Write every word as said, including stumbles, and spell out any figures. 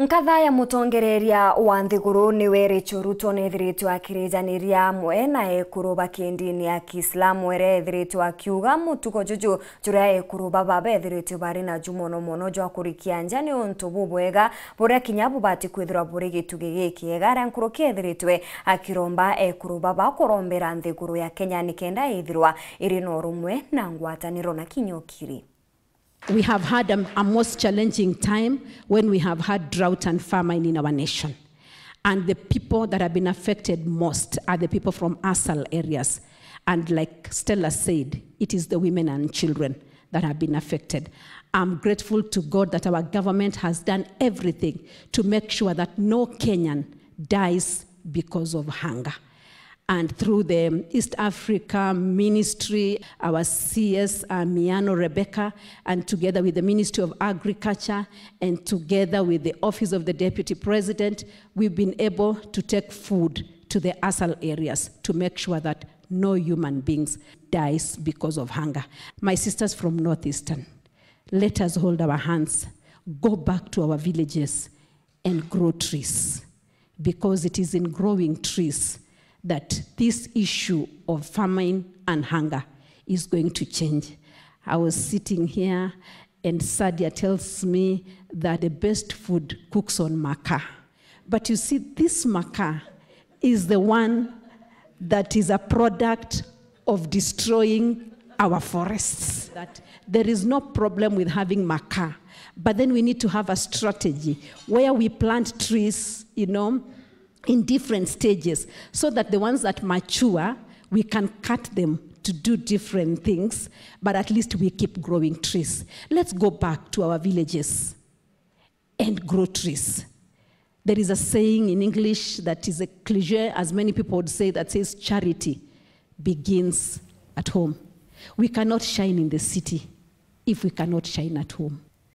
Nkatha ya mutongereria wa nthiguru niwe Rachel Ruto nethiritwe akirijaniria amwe na ekuru ba kindini ya Kiislamu, eria ethiritwe akiuga mutugo juju juria ekuru baba bethiritwe bari naju mono mono jwa kurikia nja ni untu bubwega buria kinya bubati kwithirwa buri gitugi gikiega, aria nkuruki ethiritwe akiromba ekuru baba kurombera nthiguru ya Kenya nikenda ithirwa iri na urumwe na ngwataniro na kinya ukiri. We have had a, a most challenging time when we have had drought and famine in our nation. And the people that have been affected most are the people from ASAL areas. And like Stella said, it is the women and children that have been affected. I'm grateful to God that our government has done everything to make sure that no Kenyan dies because of hunger. And through the East Africa Ministry, our C S, uh, Miano Rebecca, and together with the Ministry of Agriculture and together with the Office of the Deputy President, we've been able to take food to the ASAL areas to make sure that no human beings dies because of hunger. My sisters from Northeastern, let us hold our hands, go back to our villages and grow trees, because it is in growing trees that this issue of famine and hunger is going to change. I was sitting here and Sadia tells me that the best food cooks on makaa. But you see, this makaa is the one that is a product of destroying our forests. That there is no problem with having makaa, but then we need to have a strategy where we plant trees, you know, in different stages, so that the ones that mature, we can cut them to do different things, but at least we keep growing trees. Let's go back to our villages and grow trees. There is a saying in English that is a cliche, as many people would say, that says, "Charity begins at home." We cannot shine in the city if we cannot shine at home.